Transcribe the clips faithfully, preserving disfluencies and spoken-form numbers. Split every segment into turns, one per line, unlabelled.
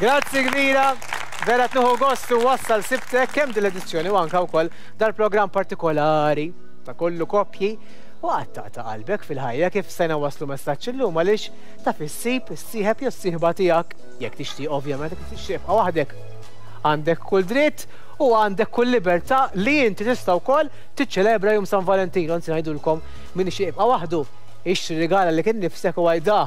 Grazzi kbira. Vera nieħu gost u wassal Sibtek kemm din l-edizzjoni u anka wkoll dal-programm partikolari ta' Kollu Koppji u għatta ta' qalbek fil-ħajja kif sena waslu messaġġ illum, għaliex taf issib is-sieħeb jew s-sieħba tiegħek jekk tixtieq, ovvjament. Jekk tixtieq tibqa' waħdek, għandek kull dritt u għandek kull libertà li inti tista' wkoll tiċċelebra Jum San Valentino. Anzi, ngħidulkom, min ixtieq jibqa' waħdu, ixtri rigala lilek innifsek u għidha,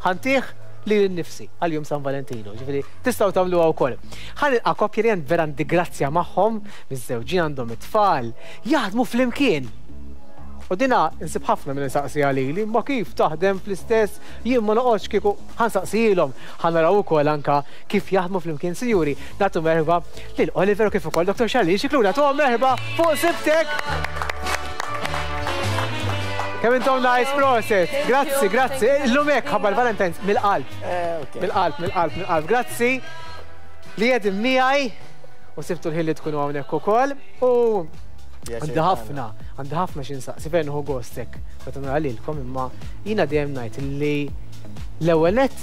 "Ħa ntih lili nnifsi għal Jum San Valentino." Ġifieri tistgħu tagħmluha wkoll. Ħa nilqa' koppji li vera għandi grazzja magħhom, miżżewġin, għandhom it-tfal, jaħdmu flimkien. U dina nsib ħafna minn saqsi għalili, ma kif taħdem fl-istess, jien ma noqgħodx kieku. Ħa nsaqsihilhom, ħa naraw ukoll anka kif jaħdmu flimkien. Sinjuri, nagħtu merħba lil Oliver u kif ukoll Doktor Charlene Scicluna, tuhom merħba fuq Sibtek. Kemm intom nice, prosit. Grazzi, grazzi. Illum hekk ħabba l-Valentine's mill-qalb. Mill-qalb, mill-qalb, mill-qalb. Grazzi li qegħdin miegħi u sibtu l-ħin li tkunu hawnhekk ukoll. U għandi ħafna, għandi ħafna xi nsaqsi, fejn hu gostek meta nara lilkom, imma jiena dejjem ngħid li l-ewwel nett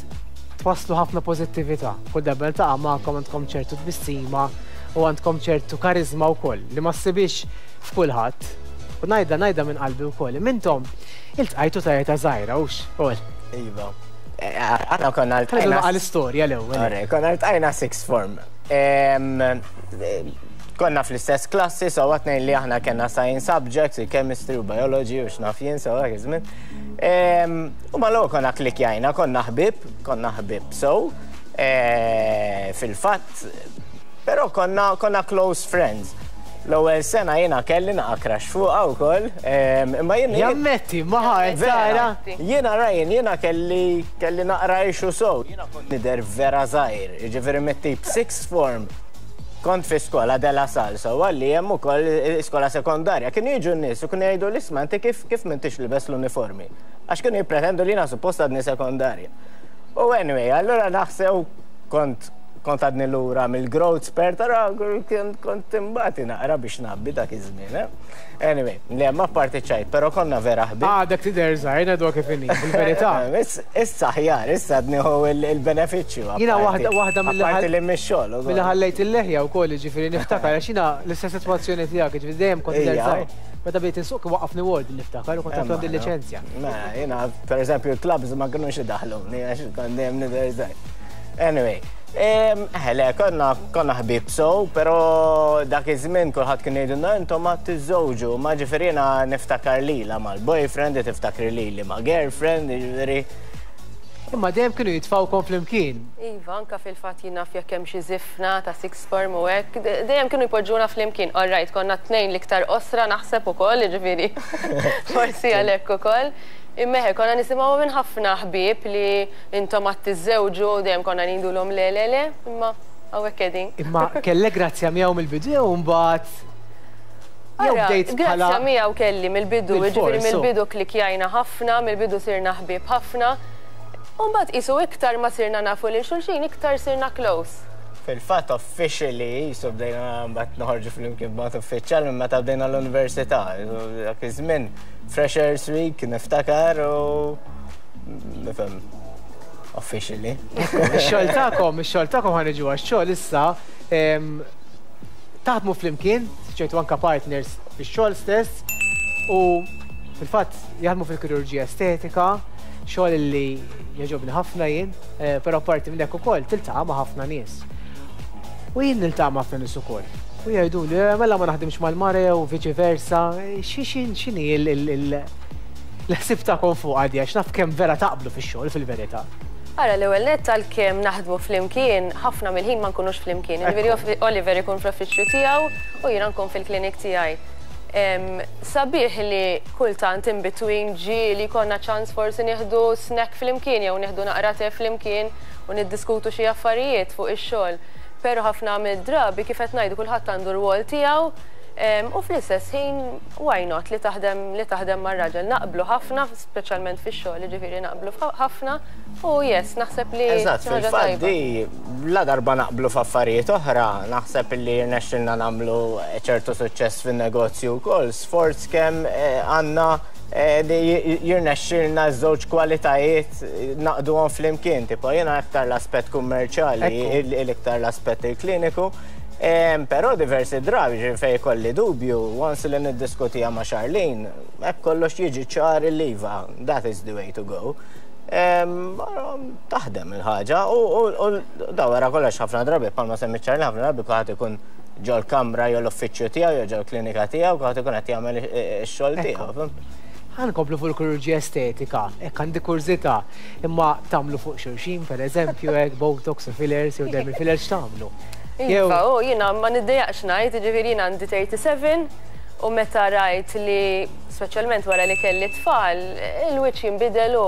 twasslu ħafna pożittività. Kull darba niltaqa' magħkom għandkom ċertu tbissima u għandkom ċertu karizma wkoll li ma ssibix f'kulħadd. U ngħidha ngħidha minn qalbi wkoll. Intom iltqajtu ta' età żgħira, hux? Ol.
Iva. Aħna konna
ltqajna. Għal-istorja l-ewwel.
Konna ltqajna sixth form. Konna fl-istess klassi, so għatnejn li aħna kena science subjects, chemistry u biology u x'naf jien, so dak iż-żmien. U mal konna klikjajna, konna ħbib, konna ħbib. So, fil-fatt, pero konna, konna close friends. L-ewwel sena jiena kelli naqa crush fuqha wkoll, imma jien
Jammetti, maħa, tara.
Jiena Ryan, jiena kelli kelli naqra issue so. Jiena kont nidher vera żgħir, jiġifieri mit-tip sixth form kont fi skola De La Salle, so għalli hemm ukoll skola sekondarja. Kienu jiġu n-nies u kienu jgħidu, "Isma', inti kif kif m'intix libes l-uniformi?" Għax kienu jippretendu li jiena suppost għadni sekondarja. U anyway, allura naħsew kont kont għadni lura mill-growth spurt, ara kont imbati naqra biex nabbi dak iż-żmien. Eh? Anyway, li hemm parti ċajt, però konna vera ħbib.
Għadek tidher żgħir, ngħidu kif inhi, fil-verità.
Issa ħjar, issa għadniħu il-benefiċċju.
Jiena waħda waħda mill
Parti li mix-xogħol.
Mill ħallejt il-leħja wkoll, ġifieri niftakar għax jiena l-istess sitwazzjoni tiegħek, ġifieri dejjem kont tidher żgħir. Meta bdejt insuq waqafni ward, niftakar, u kont għandi l-liċenzja.
Ma, jiena, per eżempju, clubs ma kinux idaħluni għax kont dejjem nidher żgħir. Anyway, le, konna konna ħbib so, pero dak iż-żmien kulħadd kien jgħidulna, "Intom ma tiżżewġu," ma ġifieri jiena niftakar lila mal-boyfriend, tiftakri lili ma' girlfriend, ġifieri.
Imma dejjem kienu jitfawkom flimkien.
Iva, anka fil-fatt jien naf jekk hemm xi żifna ta' sixth form u hekk, dejjem kienu jpoġġuna flimkien. All right, konna tnejn l-iktar qosra naħseb ukoll, jiġifieri forsi għalhekk ukoll. Imma konna nisimgħu minn ħafna ħbieb li intom għad tiżżewġu, dejjem konna ngħidulhom le, le, le, imma hawnhekk qegħdin.
Imma kellek grazzja miegħu mill-bidu u mbagħad jew bdejt bħala
Grazzja miegħu kelli mill-bidu, jiġifieri
Bil-fors, so.
mill-bidu klikjajna ħafna, mill-bidu sirna ħbieb ħafna. U mbagħad qisu iktar ma sirna nafu lil xulxin, iktar sirna close.
Fil-fatt officially, jisu bdejna mbagħad noħorġu flimkien b'mod uffiċjal minn meta bdejna l-università. Dak iż-żmien Freshers Week niftakar u nifhem officially.
Ix-xogħol tagħkom, ix-xogħol tagħkom, ħa niġu għax-xogħol issa. em, Taħdmu flimkien, ċertu anka partners fix-xogħol stess u fil-fatt jaħdmu fil-kirurġija estetika, xogħol li jogħġobni ħafna jien, eh, però parti minn hekk ukoll tiltaqa' ma' ħafna nies. U jien niltaqa' ma' ħafna nies ukoll. U jgħidu li, "Eh, mela ma naħdimx mal-mara u viċi versa, xi x'inhi l-ħsib tagħkom fuq għadi, għax naf kemm vera taqblu fix-xogħol fil-verità?"
Ara, l-ewwel nett, għalkemm naħdmu flimkien, ħafna mill-ħin ma nkunux flimkien. Jiġifieri Oliver ikun fl-uffiċċju tiegħu u jiena nkun fil-klinik tiegħi. Em, Sabiħ li kultant in between ġieli konna ċans forsi nieħdu snack flimkien jew nieħdu naqra te flimkien u niddiskutu xi affarijiet fuq ix-xogħol. Però ħafna mid-drabi, kif qed ngħidu, kulħadd għandu rwol tiegħu em, u fl-istess ħin why not li taħdem li taħdem mar-raġel. Naqblu ħafna, speċjalment fix-xogħol, jiġifieri naqblu ħafna u yes, naħseb li
Eżatt,
xi ħaġa
fil-fatt
tajba.
di la darba naqblu f'affarijiet oħra, naħseb li rnexxilna nagħmlu ċertu suċċess fin-negozju wkoll. Sforz kemm eh, għandna Jirnexxilna żewġ kwalitajiet naqduhom flimkien, tipo jiena aktar l-aspett kummerċjali, l-iktar l-aspett il-kliniku. Però diversi drabi fejn ikolli dubju, once li niddiskutija ma' Charlene, hekk kollox jiġi ċar il-liva, that is the way to go. Taħdem il-ħaġa u da wara kollox ħafna drabi, bħalma semmi Charlene, ħafna drabi kulħadd ikun ġol kamra jew l-uffiċċju tiegħu jew ġol klinika tiegħu, kulħadd ikun qed jagħmel ix-xogħol tiegħu.
Ħa nkomplu fuq il-kirurġija estetika, hekk għandi kurżità, imma tagħmlu fuq xulxin, per eżempju, hekk botox u fillers jew dermal fillers, x'tagħmlu?
Iva, u jiena ma niddejjaqx ngħid, jiġifieri jiena għandi tlieta u tletin u meta rajt li speċjalment wara li kelli tfal, il-wiċċ jinbidel u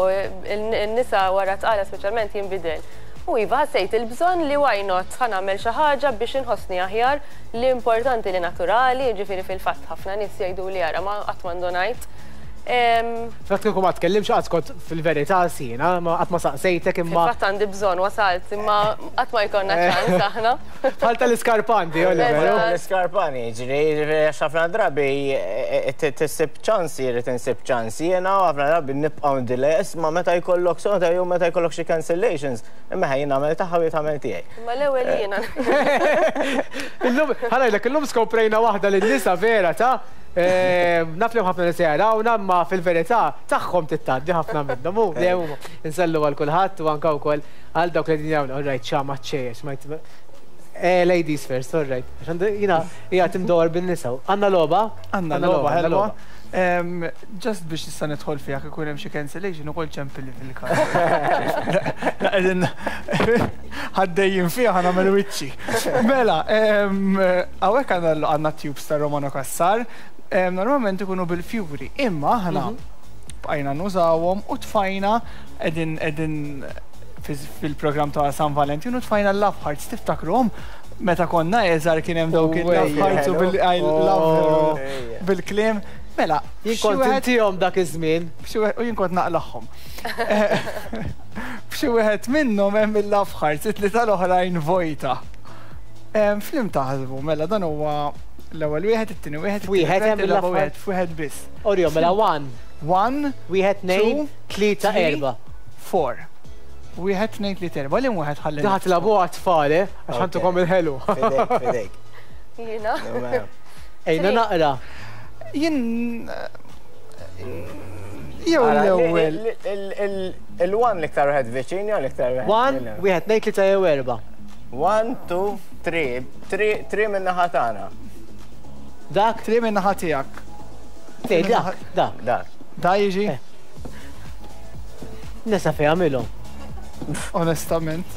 n-nisa wara tqala speċjalment jinbidel. U iva, ħassejt il-bżonn li why not, ħa nagħmel xi ħaġa biex inħossni aħjar, li importanti li naturali, jiġifieri fil-fatt ħafna nies jgħidu li ara ma qatt m'għandu.
Fatt kieku ma tkellimx qatt kont fil-verità sina, ma qatt ma saqsejtek imma.
Fil-fatt għandi bżonn wasalt, imma qatt ma jkollna ċans aħna.
Bħal tal-iskarpanti, Oliver.
L-iskarpani, ġiri, ħafna drabi tisib ċansi, jrid insib ċansi, jiena ħafna drabi nibqgħu delay, isma' meta jkollok sota jew meta jkollok xi cancellations, imma ħajjin nagħmel tagħha u jitgħamel tiegħi.
Imma l-ewwel jiena.
Illum, ħa ngħidlek, illum skoprejna waħda lin-nisa vera ta' naf li ħafna nisa jarawna, ma fil-verità tagħhom tittaddi ħafna minnhom. U dejjem insellu għal kulħadd u anke wkoll għal dawk li din jagħmlu. All right, ċama ċejjex, Eh, ladies first, all right. Jiena, hija timdor bin-nisa. Għandna logħba?
Għandna logħba, ħelwa. Just biex nista' nidħol fiha ikun hemm xi cancellation ukoll ċempilli fil-każ. Qegħdin ħaddejjin fiha, ħa nagħmel wiċċi. Mela, hawnhekk għandna tubes ta' Romano Cassar, normalment ikunu bil-fjuri, imma aħna bqajna nużawhom u tfajna qegħdin qegħdin fil-programm ta' San Valentino, tfajna l-Love Hearts. Tiftakruhom meta konna iżgħar kien hemm dawk il-Love Hearts u bil-I love bil-kliem. Mela,
jien kont intihom dak iż-żmien.
U jien kont naqlaħħom. F'xi wieħed minnhom hemm il-Love Hearts, it-tlieta tal-oħrajn vojta. F'liem taħsbu, mela dan huwa l-ewwel wieħed, it-tieni wieħed,
wieħed hemm
il-raba' wieħed, f'wieħed biss.
Orjo, mela one.
One,
wieħed, tnejn, tlieta, erba'.
Four. Wieħed, tnejn, tlieta, erba'. Li wieħed ħalli.
Daħat labu għat-tfal, eh? Għax ħa ntukom il-ħelu.
Fidejk, fidejk.
Jiena.
Ejna naqra.
Jien jew l-ewwel.
Il-one l-iktar wieħed viċin jew l-iktar wieħed?
One, wieħed, tnejn, tlieta jew erba'.
One, two, three. Three, three minn naħa tagħna.
Dak?
Three minn naħa tiegħek.
Dak, dak.
Dak.
Da jiġi?
Nesa fej għamilhom.
Onestament.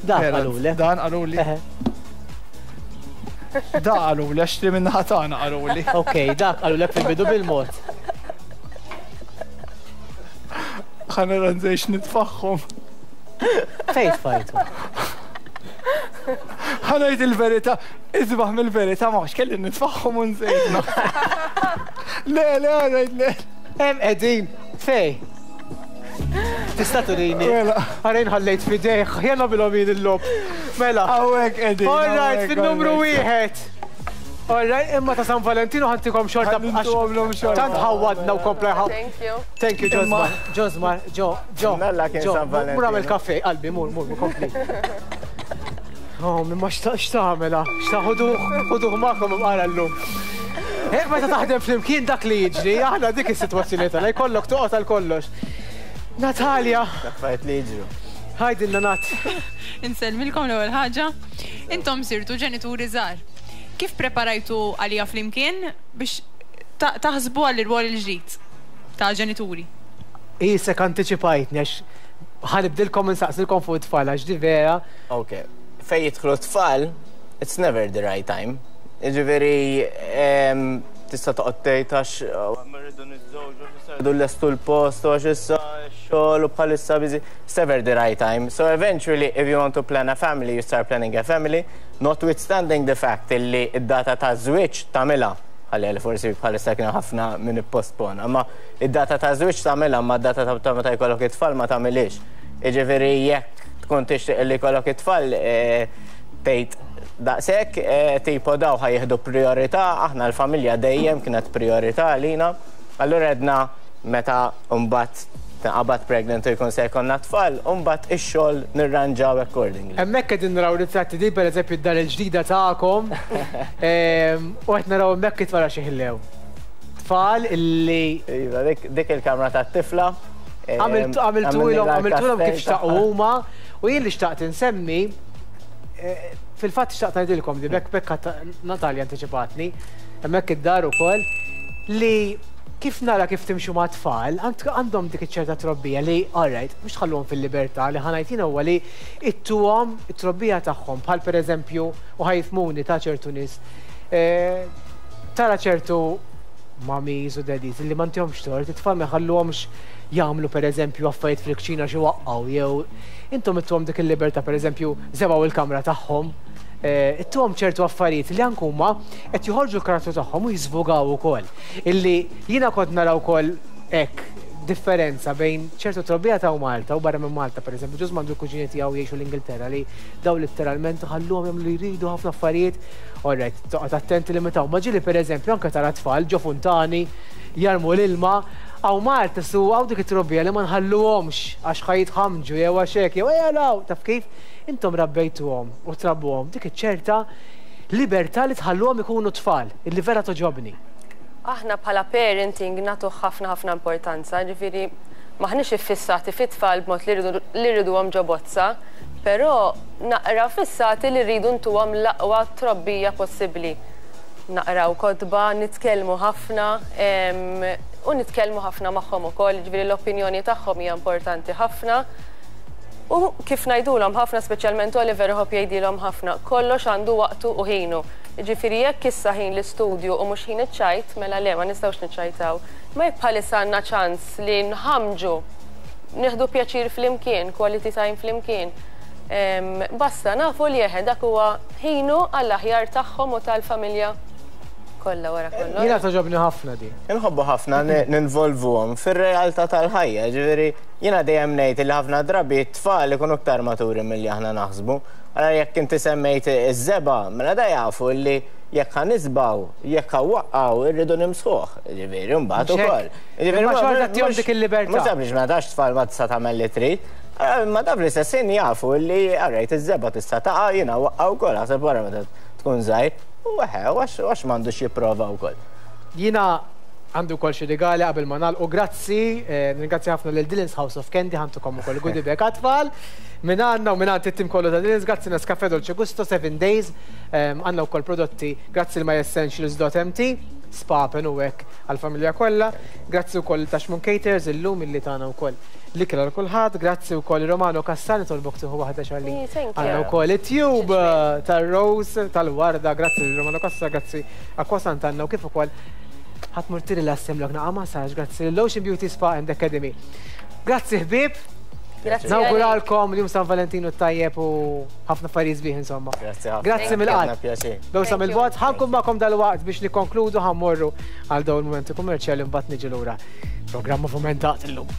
Dak qaluli.
Dan qaluli. Da qaluli, għax three minn naħa tagħna qaluli.
Ok, dak qalulek fil-bidu bil-mod.
Ħa nara nżejx nitfaħħom.
Fejn tfajtu?
Ħa ngħid il-verità, isbaħ mill-verità ma kelli nitfaħħom u nżejtna. Le, le, għanajt le.
Hemm qegħdin, fej. Tista' turini.
Mela.
Għarejn ħallejt fidejh, jena bilhom jien il-lob. Mela.
Hawnhekk qegħdin.
All right,
hawnhekk,
fin-numru
hawnhekk.
wieħed. All right, imma ta' San Valentino ħa ntikom xorta.
Ħa ntuhomlhom xorta.
Tant ħawadna u kompla ħaw.
Thank you.
Thank you, Josmar. Josmar, Jo, Jo.
Mella kien
Jo,
San Valentino.
Mur għamel kafè, qalbi, mur, mur, mur, kompli. Oh, minn ma x'tagħmela? X'taħuduh, ħuduh magħkom imqara llum. Hekk meta taħdem flimkien dak li jiġri, aħna dik is-sitwazzjoni tagħna, jkollok toqgħod għal kollox. Natalia,
Affarijiet li jiġru.
Ħajdilna Nat.
Insellmilkom l-ewwel ħaġa. Intom sirtu ġenituri żgħar. Kif preparajtu għalija flimkien biex ta- taħsbu għall irwol il-ġdid ta' ġenituri?
Isek anticipajtni għax ħa nibdilkom insaqsilkom fuq it-tfal għax di vera.
Ok, fej jidħlu tfal, it's never the right time. Ġifieri, em, tista' toqgħod tgħid għax oh, ma rridu niżżewġu, issa rridu lestu l-post, għax issa xogħol u bħalissa busy. It's never the right time. So eventually, if you want to plan a family, you start planning a family, notwithstanding the fact illi id-data ta' żwieġ tagħmilha, ħalli li forsi bħalissa kien ħafna minn ippospona, ma id-data ta' żwieġ tagħmilha, ma d-data ta' ta' meta jkollok it-tfal ma tagħmilix. Jiġifieri jekk tkun tixtieq li jkollok it-tfal, eh, tgħid daqshekk, eh, tipo daw ħa jieħdu priorità, aħna l-familja dejjem kienet priorità għalina. Allura għedna meta mbagħad tinqabad pregnant u jkun se jkollna tfal, u mbagħad ix-xogħol nirranġaw accordingly.
Hemmhekk qegħdin naraw ritratti di pereżempju d-dar il-ġdida tagħkom u qed naraw hemmhekk it-tfal xi ħillew. Tfal illi.
Iva, dik il-kamra tat-tifla.
Għamiltulhom għamiltulhom kif xtaqu huma u jien li xtaqt insemmi fil-fatt xtaqt ngħidilkom li bekk bekk Natalja antiċipatni hemmhekk id-dar ukoll li kif nara kif timxu ma' tfal, għandhom dik iċ-ċerta trobbija li, all right, mhux tħalluhom fil-libertà li ħa ngħid jiena huwa li ittuhom it-trobbija tagħhom bħal pereżempju u ħa jifhmuni ta' ċertu nies. Tara ċertu mummies u daddies li ma ntihomx tort, it-tfal ma jħalluhomx jagħmlu pereżempju affarijiet fil-kċina xi waqqgħu jew intom ittuhom dik il-libertà pereżempju żebgħu il-kamra tagħhom. Ittuhom ċertu affarijiet li anke huma qed joħorġu l-karattru tagħhom u jiżvugaw ukoll. Illi jiena kont nara wkoll hekk differenza bejn ċertu trobbija ta' Malta u barra minn Malta, pereżempju, ġuż mandu l-kuġini tiegħu jgħixu l-Ingilterra li daw letteralment ħalluhom jagħmlu li jridu ħafna affarijiet. All right, toqgħod attenti li meta huma ġieli pereżempju anke tara tfal ġo funtani jarmu l-ilma. Hawn Malta su hawn dik it-trobbija li ma nħalluhomx għax ħa jitħamġu jew għax hekk jew ejja taf kif intom rabbejtuhom u trabbuhom dik iċ-ċerta libertà li tħalluhom ikunu tfal, illi vera toġobni.
Aħna bħala parenting nagħtu ħafna ħafna importanza, ġifieri maħniex iffissati fit-tfal b'mod li rriduhom ġo bozza, però naqra fissati li rridu ntuhom l-aqwa trobbija possibbli. Naqraw kotba, nitkellmu ħafna u nitkellmu ħafna magħhom ukoll, ġifieri l-opinjoni tagħhom hija importanti ħafna. U kif ngħidulhom ħafna, speċjalment Oliver iħobb jgħidilhom ħafna, kollox għandu waqtu u ħinu. Ġifieri jekk issa ħin l-istudju u mhux ħin iċ-ċajt, mela le ma nistgħux niċċajtaw. Ma jekk bħalissa għandna ċans li nħamġu, nieħdu pjaċir flimkien, quality time flimkien. Basta nafu li eħe dak huwa ħinu għall-aħjar tagħhom u tal-familja kollha wara kollox.
Jiena toġobni ħafna di.
Inħobbu ħafna ninvolvuhom fir-realtà tal-ħajja, ġifieri jiena dejjem ngħid li ħafna drabi t-tfal ikunu aktar maturi milli aħna naħsbu. Allora jekk inti semmejt iż-żebgħa, mela da jafu li jekk ħa nisbaw, jekk ħa waqqgħu irridu nimsħuh, ġifieri mbagħad ukoll.
Ġifieri ma xorta tihom dik il-libertà.
Mhux sempliċement ma tax tfal ma tista' tagħmel li trid. Ma taf l-istess ħin jafu li għarrejt iż-żebgħa tista' taqa' jiena waqgħu wkoll ħaseb wara meta tkun żgħir. U eħe, għax m'għandux jipprova wkoll.
Jiena għandu wkoll xi rigali qabel ma nagħlqu. Grazzi, ringrazzja ħafna lil Dylan's House of Candy ħantukom ukoll goodie bag għat-tfal. Min għandna u minn għand it-tim kollu ta' Dylan's, grazzi Nescafe Dolce Gusto, seven days, għandna wkoll prodotti grazzi l myessentials dot m t, spa pen u hekk għall-familja kollha. Grazzi wkoll Taxmun Caters illum illi tagħna wkoll l-ikel għal kulħadd, grazzi wkoll Romano Cassani tolbok tieħu waħda xalli. Għandna wkoll it-tube tar-rose tal-warda, grazzi Romano Cassani, grazzi Aqua Sant'Anna u kif ukoll ħadd mur tirilassemlok naqa' massage, grazzi l-Ocean Beauty Spa and Academy. Grazzi ħbieb. Nawguralkom l-jum San Valentinu tajjeb u ħafna affarijiet sbieħ insomma.
Grazzi ħafna.
Grazzi mill-qalb. Bewsa mill-bogħod, ħankun magħkom dal-waqt biex nikkonkludu ħammorru għal dawn il-mumenti kummerċjali mbagħad niġi lura. Programm movimentat illum.